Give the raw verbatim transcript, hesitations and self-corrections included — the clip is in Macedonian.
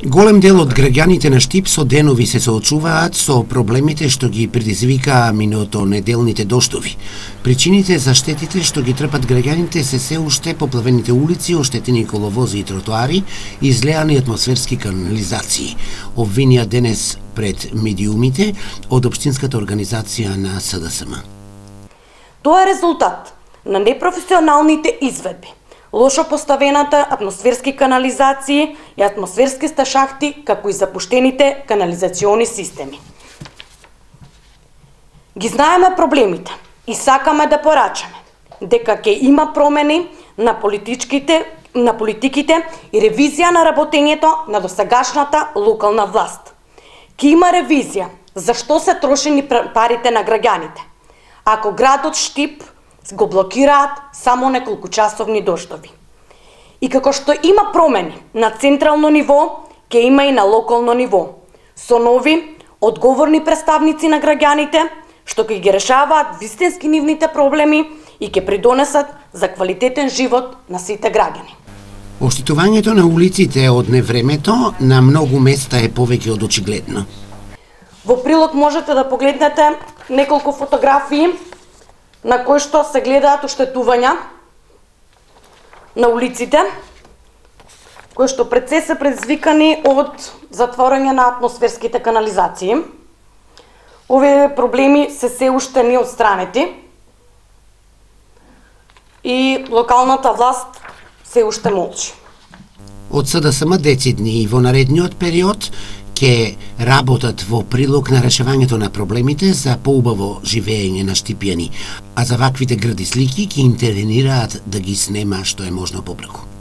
Голем дел од граѓаните на Штип со денови се соочуваат со проблемите што ги предизвикаа миното неделните доштови. Причините за штетите што ги трпат граѓаните се се уште поплавените улици, оштетени коловози и тротоари и излеани атмосферски канализации. Обвинија денес пред медиумите од Општинската организација на С Д С М. Тоа е резултат на непрофесионалните изведби, лошо поставената атмосферски канализации и атмосферски сташахти, како и запуштените канализациони системи. Ги знаеме проблемите и сакаме да порачаме дека ќе има промени на политичките, на политиките и ревизија на работењето на досегашната локална власт. Ќе има ревизија зашто се трошени парите на граѓаните, ако градот Штип го блокираат само неколку часовни доштови. И како што има промени на централно ниво, ќе има и на локално ниво, со нови, одговорни представници на граѓаните, што ќе ги решаваат вистински нивните проблеми и ќе придонесат за квалитетен живот на сите граѓани. Оштетувањето на улиците од невремето на многу места е повеќе од очигледно. Во прилог можете да погледнете неколку фотографии на кои што се гледаат оштетувања на улиците, кои што пред се се предизвикани од затворање на атмосферските канализации. Овие проблеми се се уште не отстранети и локалната власт се уште молчи. Од С Д С М децидни и во наредниот период ќе работат во прилог на решавањето на проблемите за поубаво живење на штипјани, а за ваквите грди слики ќе интервенираат да ги снема што е можно побрзо.